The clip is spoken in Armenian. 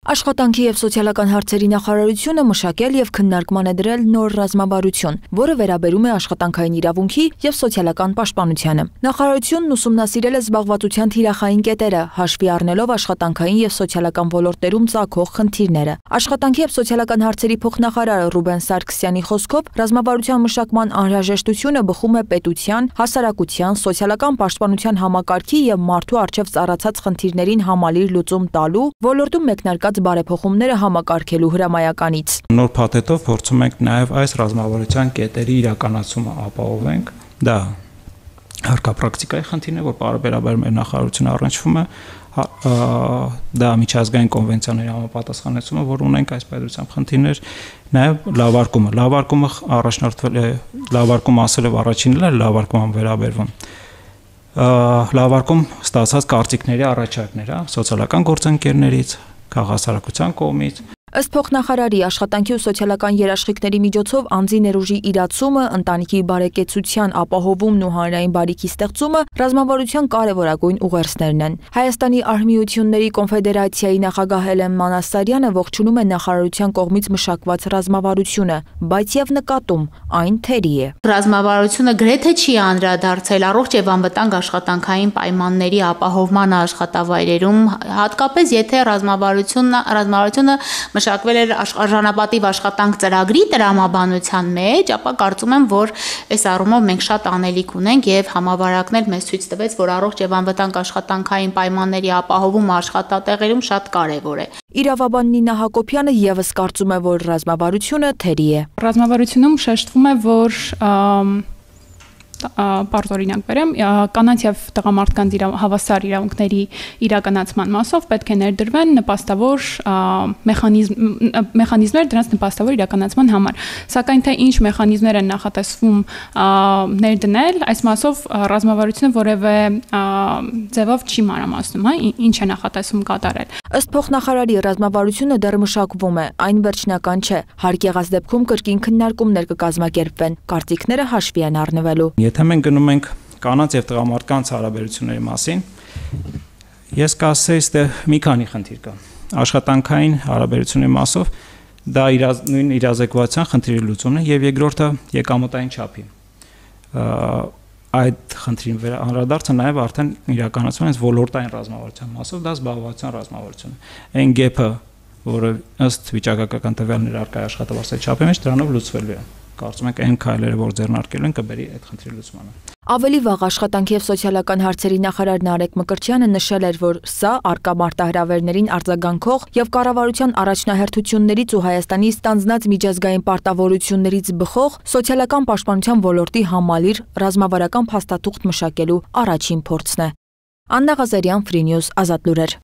Աշխատանքի և սոցիալական հարցերի նախարարությունը մշակել և քննարկման է դրել նոր ռազմավարություն, որը վերաբերում է աշխատանքային իրավունքի և սոցիալական պաշտպանությանը։ Նախարարությունն ուսումնասիրել է զբաղվածության թիրախային կետերը, հաշվի առնելով աշխատանքային և սոցիալական ոլորտներում ծագող խնդիրները։ Աշխատանքի և սոցիալական հարցերի փոխնախարար Ռուբեն Սարգսյանի խոսքով, ռազմավարության մշակման անհրաժեշտությունը բխում է պետության, հասարակության, սոցիալական պաշտպանության համակարգի և մարդու առջև ծառացած խնդիրներին համալիր լուծում տալու, ոլորտում մեկնարկած բարեփոխումները համակարգելու հրամայականից։ Նոր փաթեթով փորձում ենք նաև այս ռազմավարության կետերի իրականացումը ապահովենք։ Դա հարկապրակտիկայի խնդիրն է, որ պարբերաբար մեր նախարարությունը առնչվում է, դա միջազգային կոնվենցիաների համապատասխանեցումը, որ ունենք այս պետությամբ խնդիրներ, նաև լավարկումը առաջնորդվել է, լավարկում ասել եւ առաջինն է լավարկման վերաբերվում։ Լավարկում ստացած կարծիքների առաջարկները սոցիալական գործընկերներից, քաղաքացիության կողմից։ Ըստ փոխնախարարի, աշխատանքի ու սոցիալական երաշխիքների միջոցով անձի ներուժի իրացումը, ընտանիքի բարեկեցության ապահովումն ու հանրային բարիքի ստեղծումը ռազմավարության կարևորագույն ուղերձներն են։ Հայաստանի արհմիությունների կոնֆեդերացիայի նախագահ Հելեն Մանասարյանը ողջունում է նախարարության կողմից մշակված ռազմավարությունը, բայց եւ նկատում այն թերի է։ Ռազմավարությունը գրեթե չի անդրադարձել առողջ եւ անվտանգ աշխատանքային պայմանների ապահովմանը աշխատավայրերում, հատկապես եթե ռազմավարությունը մշակվել էր արժանապատիվ աշխատանք ծրագրի տրամաբանության մեջ, ապա կարծում եմ, որ այս առումով մենք շատ անելիք ունենք եւ համավարակն էլ մեզ ցույց տվեց, որ առողջ եւ անվտանգ աշխատանքային պայմանների ապահովումը աշխատատեղերում շատ կարեւոր է։ Իրավաբան Նինա Հակոբյանը եւս կարծում է, որ ռազմավարությունը թերի է։ Ռազմավարությունում շեշտվում է, որ պարզ օրինակ բերեմ, կանանց եւ տղամարդկանց հավասար իրավունքների իրականացման մասով պետք է ներդրվեն նպաստավոր մեխանիզմներ դրանց նպաստավոր իրականացման համար։ Սակայն թե ինչ մեխանիզմներ են նախատեսվում ներդնել, այս մասով ռազմավարությունը որևէ ձևով չի մանրամասնում, ինչ է նախատեսվում կատարել։ Ըստ փոխնախարարի, ռազմավարությունը դեռ մշակվում է, այն վերջնական չէ։ Հարկ եղած դեպքում կրկին քննարկումներ կկազմակերպվեն, կարծիքները հաշվի են առնվելու։ Եթե մենք գնում ենք կանանց եւ տղամարդկանց հարաբերությունների մասին, ես կասեի, այստեղ մի քանի խնդիր կա։ Աշխատանքային հարաբերությունների մասով դա նույն իրազեկվածության խնդիրի լուծումն է եւ երկրորդը եկամտային չափի։ Այդ խնդրին անդրադարձը նաև արդեն իրականացվում է ոլորտային ռազմավարության մասով, դա զբաղվածության ռազմավարությունն է։ Այն գեփը, որը ըստ վիճակագրական տվյալների առկա աշխատավարձի չափի մեջ դրանով լուծվելու է։ Կարծում ենք այն քայլերը, որ ձեռնարկելու են, կբերի այդ խնդրի լուծմանը։ Ավելի վաղ աշխատանքի և սոցիալական հարցերի նախարար Նարեկ Մկրտչյանը նշել էր, որ սա առկա մարտահրավերներին արձագանքող և կառավարության առաջնահերթություններից ու Հայաստանի ստանձնած միջազգային պարտավորություններից բխող սոցիալական պաշտպանության ոլորտի համալիր ռազմավարական փաստաթուղթ մշակելու առաջին փորձն է։ Աննա Ղազարյան, Free News, Ազատ լուրեր։